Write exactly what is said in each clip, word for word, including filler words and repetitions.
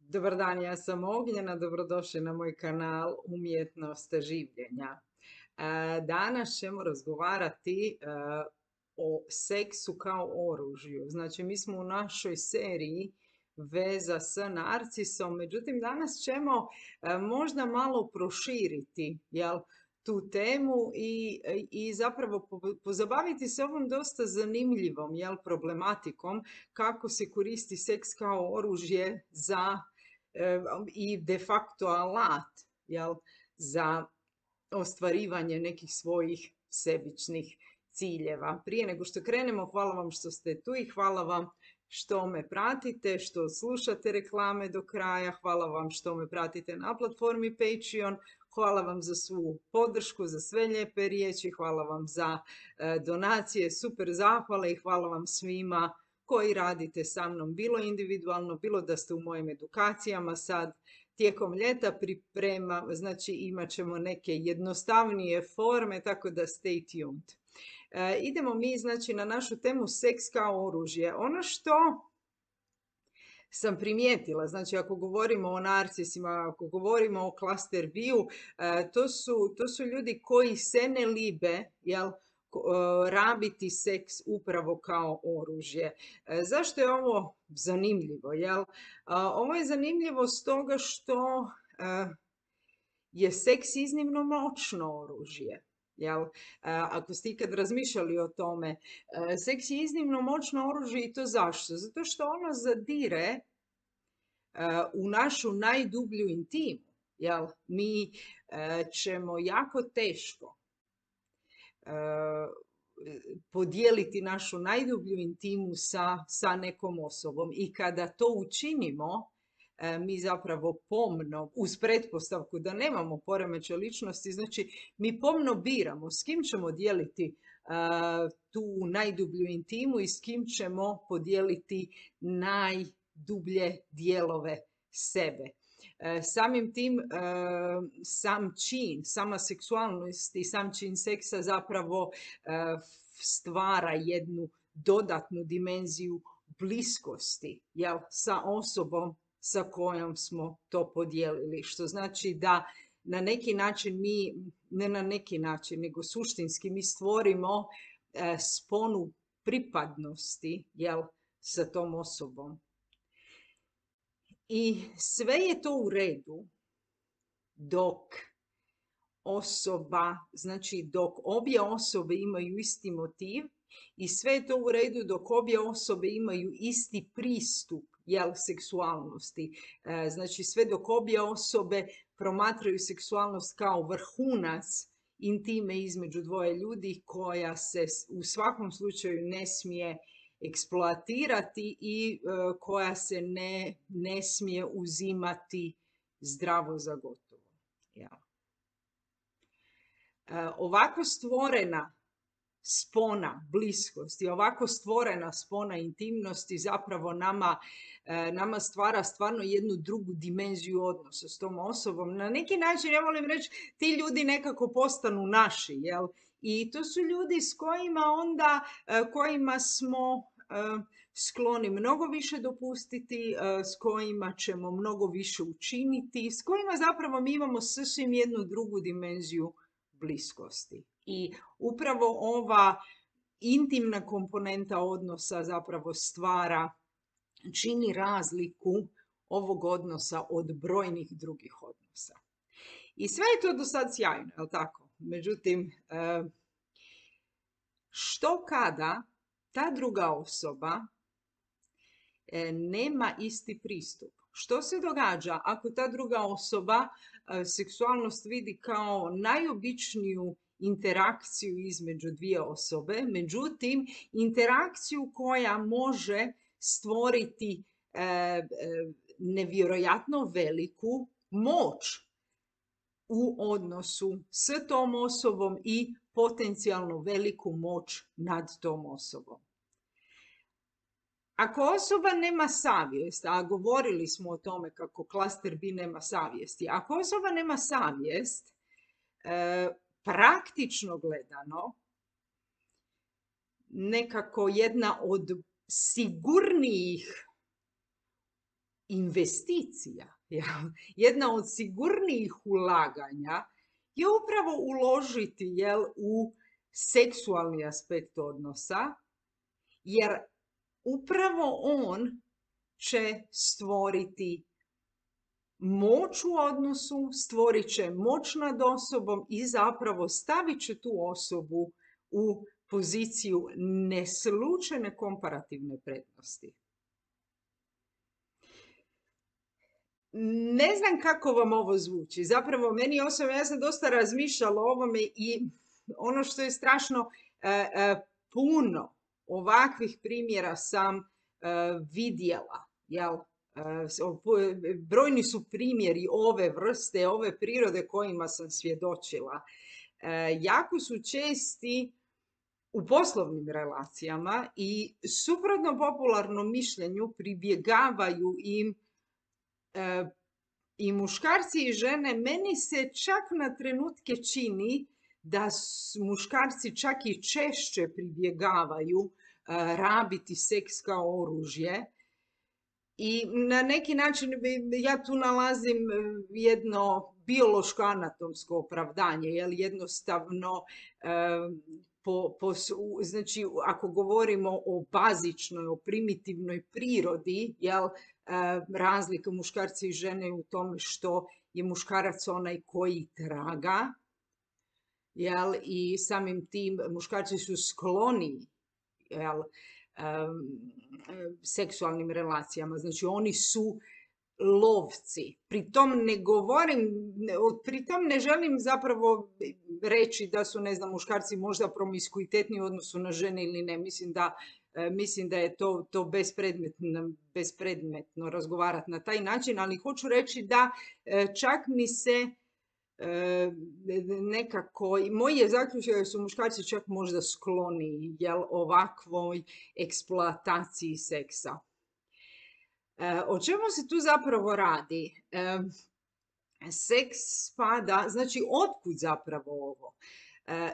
Dobar dan, ja sam Ognjena, dobrodošli na moj kanal Umjetnost življenja. E, Danas ćemo razgovarati e, o seksu kao oružju. Znači, mi smo u našoj seriji Veza s narcisom, međutim, danas ćemo e, možda malo proširiti, jel, tu temu i, i zapravo pozabaviti se ovom dosta zanimljivom, jel, problematikom kako se koristi seks kao oružje za i de facto alat, jel, za ostvarivanje nekih svojih sebičnih ciljeva. Prije nego što krenemo, hvala vam što ste tu i hvala vam što me pratite, što slušate reklame do kraja, hvala vam što me pratite na platformi Patreon, hvala vam za svu podršku, za sve lijepe riječi, hvala vam za donacije, super zahvale i hvala vam svima koji radite sa mnom, bilo individualno, bilo da ste u mojim edukacijama sad. Tijekom ljeta priprema, znači imat ćemo neke jednostavnije forme, tako da stay tuned. E, idemo mi, znači, na našu temu seks kao oružje. Ono što sam primijetila, znači ako govorimo o narcisima, ako govorimo o cluster B-u, e, to, su, to su ljudi koji se ne libe, jel, rabiti seks upravo kao oružje. Zašto je ovo zanimljivo? Jel? Ovo je zanimljivo stoga što je seks iznimno moćno oružje. Jel? Ako ste ikad razmišljali o tome, seks je iznimno moćno oružje i to zašto? Zato što ono zadire u našu najdublju intimu. Jel? Mi ćemo jako teško podijeliti našu najdublju intimu sa, sa nekom osobom. I kada to učinimo, mi zapravo pomno, uz pretpostavku da nemamo poremećaj ličnosti, znači mi pomno biramo s kim ćemo dijeliti uh, tu najdublju intimu i s kim ćemo podijeliti najdublje dijelove sebe. Samim tim, sam čin, sama seksualnost i sam čin seksa zapravo stvara jednu dodatnu dimenziju bliskosti, jel, sa osobom sa kojom smo to podijelili. Što znači da na neki način mi, ne na neki način, nego suštinski mi stvorimo sponu pripadnosti, jel, sa tom osobom. I sve je to u redu dok osoba, znači dok obje osobe imaju isti motiv i sve je to u redu dok obje osobe imaju isti pristup, jel, seksualnosti. Znači sve dok obje osobe promatraju seksualnost kao vrhunac intime između dvoje ljudi koja se u svakom slučaju ne smije eksploatirati i uh, koja se ne, ne smije uzimati zdravo za gotovo. Ja. Uh, ovako stvorena spona bliskosti, ovako stvorena spona intimnosti zapravo nama, uh, nama stvara stvarno jednu drugu dimenziju odnosa s tom osobom. Na neki način, ja volim reći, ti ljudi nekako postanu naši, jel? I to su ljudi s kojima onda, kojima smo skloni mnogo više dopustiti, s kojima ćemo mnogo više učiniti, s kojima zapravo mi imamo sasvim jednu drugu dimenziju bliskosti. I upravo ova intimna komponenta odnosa zapravo stvara, čini razliku ovog odnosa od brojnih drugih odnosa. I sve je to do sad sjajno, je li tako? Međutim, što kada ta druga osoba nema isti pristup? Što se događa ako ta druga osoba seksualnost vidi kao najobičniju interakciju između dvije osobe, međutim, interakciju koja može stvoriti nevjerojatno veliku moć u odnosu s tom osobom i potencijalno veliku moć nad tom osobom. Ako osoba nema savjest, a govorili smo o tome kako klaster B nema savjesti, ako osoba nema savjest, e, praktično gledano, nekako jedna od sigurnijih investicija, jedna od sigurnijih ulaganja je upravo uložiti jel, u seksualni aspekt odnosa, jer upravo on će stvoriti moć u odnosu, stvorit će moć nad osobom i zapravo stavit će tu osobu u poziciju neslučajne komparativne prednosti. Ne znam kako vam ovo zvuči. Zapravo, meni osobno, ja sam dosta razmišljala o ovome i ono što je strašno e, e, puno ovakvih primjera sam e, vidjela. Jel? E, brojni su primjeri ove vrste, ove prirode kojima sam svjedočila. E, jako su česti u poslovnim relacijama i suprotno popularnom mišljenju pribjegavaju im i muškarci i žene. Meni se čak na trenutke čini da muškarci čak i češće pribjegavaju rabiti seks kao oružje i na neki način ja tu nalazim jedno biološko anatomsko opravdanje, jer jednostavno po, po, znači ako govorimo o bazičnoj, o primitivnoj prirodi, jel, razlika muškarci i žene u tome što je muškarac onaj koji traga, jel, i samim tim muškarci su skloni, jel, um, seksualnim relacijama, znači oni su lovci. Pri tom ne govorim, pri tom ne želim zapravo reći da su, ne znam, muškarci možda promiskuitetni u odnosu na žene ili ne. Mislim da, mislim da je to, to bespredmetno, bespredmetno razgovarati na taj način, ali hoću reći da čak mi se nekako, moj je zaključak da su muškarci čak možda skloni, jel, ovakvoj eksploataciji seksa. O čemu se tu zapravo radi? Seks spada, znači otkud zapravo ovo?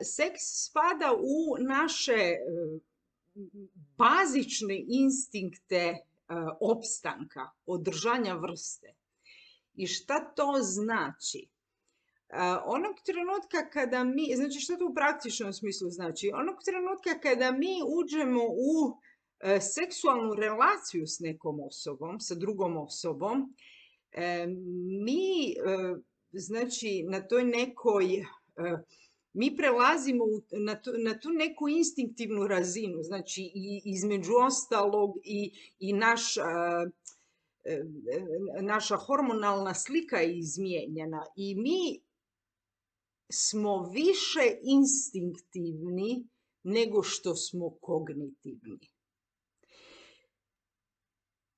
Seks spada u naše bazične instinkte opstanka, održanja vrste. I šta to znači? Onog trenutka kada mi, znači što to u praktičnom smislu znači? Onog trenutka kada mi uđemo u seksualnu relaciju s nekom osobom, sa drugom osobom, mi, znači, na toj nekoj, mi prelazimo na tu, na tu neku instinktivnu razinu, znači i između ostalog i, i naš, naša hormonalna slika je izmijenjena i mi smo više instinktivni nego što smo kognitivni.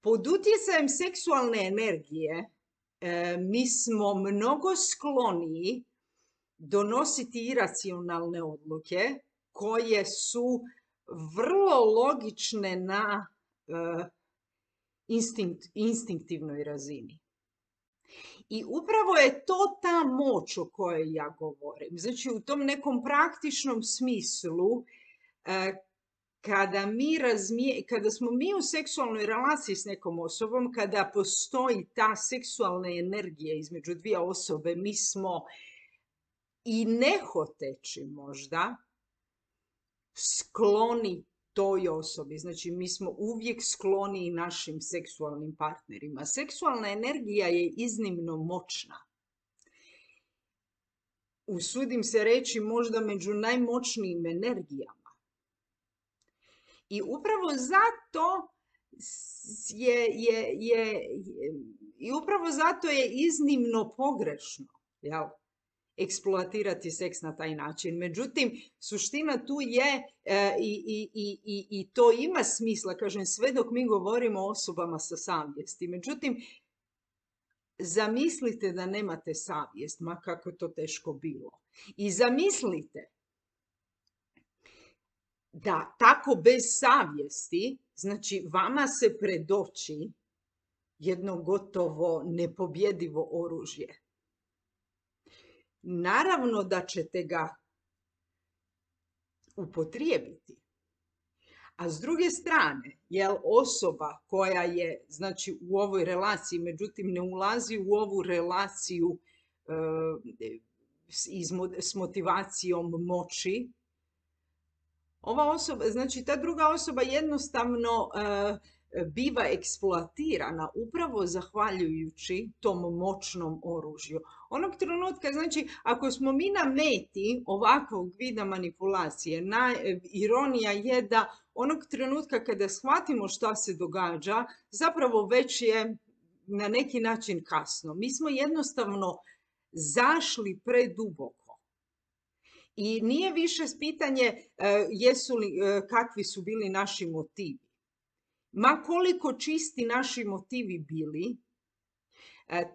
Pod utjecajem seksualne energije e, mi smo mnogo skloniji donositi iracionalne odluke koje su vrlo logične na e, instinkt, instinktivnoj razini. I upravo je to ta moć o kojoj ja govorim. Znači u tom nekom praktičnom smislu e, Kada, mi razmije, kada smo mi u seksualnoj relaciji s nekom osobom, kada postoji ta seksualna energija između dvije osobe, mi smo i nehoteći možda skloni toj osobi. Znači mi smo uvijek skloni i našim seksualnim partnerima. Seksualna energija je iznimno moćna. Usudim se reći možda među najmoćnijim energijama. I upravo zato je, je, je, je, i upravo zato je iznimno pogrešno, jel, eksploatirati seks na taj način. Međutim, suština tu je e, i, i, i, i to ima smisla, kažem, sve dok mi govorimo o osobama sa savjesti. Međutim, zamislite da nemate savjest, ma kako to teško bilo. I zamislite da tako bez savjesti, znači vama se predoči jedno gotovo nepobjedivo oružje. Naravno da ćete ga upotrijebiti, A s druge strane, jel, osoba koja je, znači, u ovoj relaciji, međutim ne ulazi u ovu relaciju e, s, izmo- s motivacijom moći, ova osoba, znači ta druga osoba jednostavno e, biva eksploatirana upravo zahvaljujući tom moćnom oružju. Onog trenutka, znači, ako smo mi na meti ovakvog vida manipulacije, na, ironija je da onog trenutka kada shvatimo šta se događa, zapravo već je na neki način kasno. Mi smo jednostavno zašli preduboko. I nije više pitanje jesu li, kakvi su bili naši motivi. Ma koliko čisti naši motivi bili,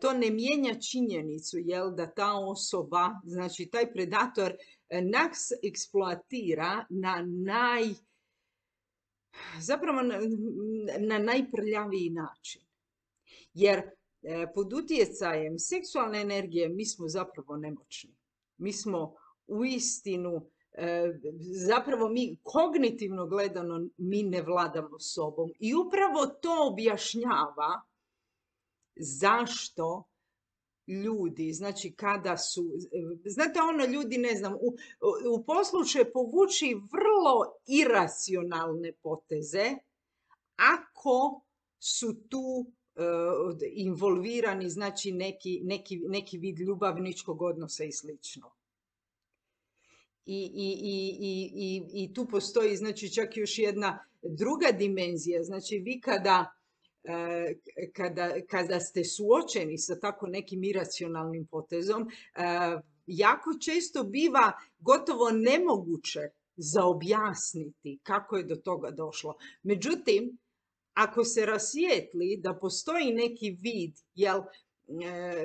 to ne mijenja činjenicu, jel, da ta osoba, znači taj predator, nas eksploatira na naj, zapravo na, na najprljaviji način. Jer pod utjecajem seksualne energije mi smo zapravo nemoćni. Mi smo uistinu, zapravo mi kognitivno gledano mi ne vladamo sobom. I upravo to objašnjava zašto ljudi, znači kada su, znate ono, ljudi, ne znam, u, u poslu će povući vrlo iracionalne poteze ako su tu uh, involvirani, znači neki, neki, neki vid ljubavničkog odnosa i slično. I, i, i, i, i tu postoji, znači, čak još jedna druga dimenzija. Znači, vi kada, kada, kada ste suočeni sa tako nekim iracionalnim potezom, jako često biva gotovo nemoguće za objasniti kako je do toga došlo. Međutim, ako se rasvijetli da postoji neki vid, jel,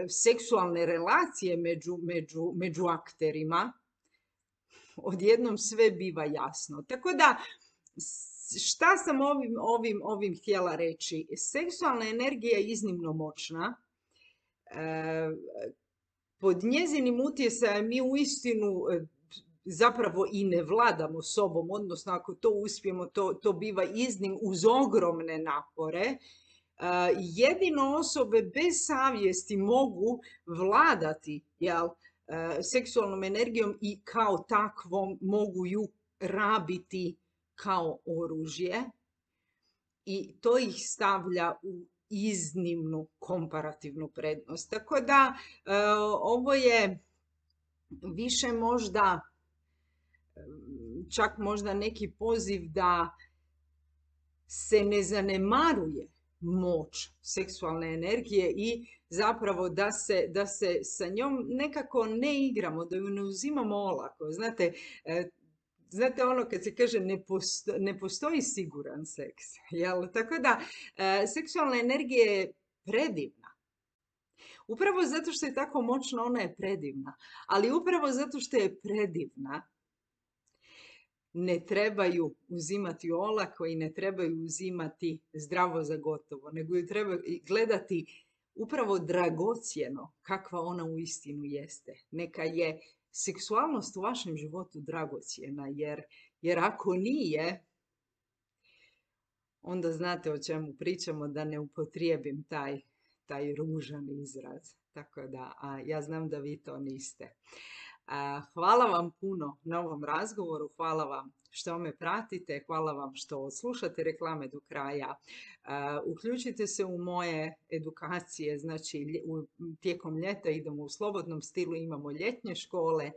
seksualne relacije među, među, među akterima, odjednom sve biva jasno. Tako da, šta sam ovim, ovim, ovim htjela reći? Seksualna energija je iznimno moćna. E, pod njezinim utjecajem mi uistinu zapravo i ne vladamo sobom, odnosno ako to uspijemo, to, to biva iznim uz ogromne napore. E, jedino osobe bez savjesti mogu vladati, jel, seksualnom energijom i kao takvom mogu ju rabiti kao oružje i to ih stavlja u iznimnu komparativnu prednost. Tako da ovo je više možda, čak možda neki poziv da se ne zanemaruje moć seksualne energije i zapravo da se, da se sa njom nekako ne igramo, da ju ne uzimamo olako. Znate, znate ono kad se kaže ne, posto, ne postoji siguran seks. Jel? Tako da seksualna energija je predivna. Upravo zato što je tako moćna, ona je predivna. Ali upravo zato što je predivna, ne trebaju uzimati olako i ne trebaju uzimati zdravo za gotovo, nego ju treba gledati upravo dragocjeno kakva ona uistinu jeste. Neka je seksualnost u vašem životu dragocjena, jer, jer ako nije, onda znate o čemu pričamo, da ne upotrijebim taj, taj ružan izraz. Tako da, a ja znam da vi to niste. Hvala vam puno na ovom razgovoru, hvala vam što me pratite, hvala vam što slušate reklame do kraja. Uključite se u moje edukacije, znači tijekom ljeta idemo u slobodnom stilu, imamo ljetnje škole,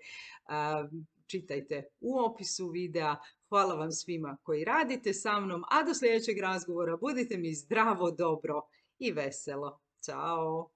čitajte u opisu videa. Hvala vam svima koji radite sa mnom, a do sljedećeg razgovora budite mi zdravo, dobro i veselo. Ćao!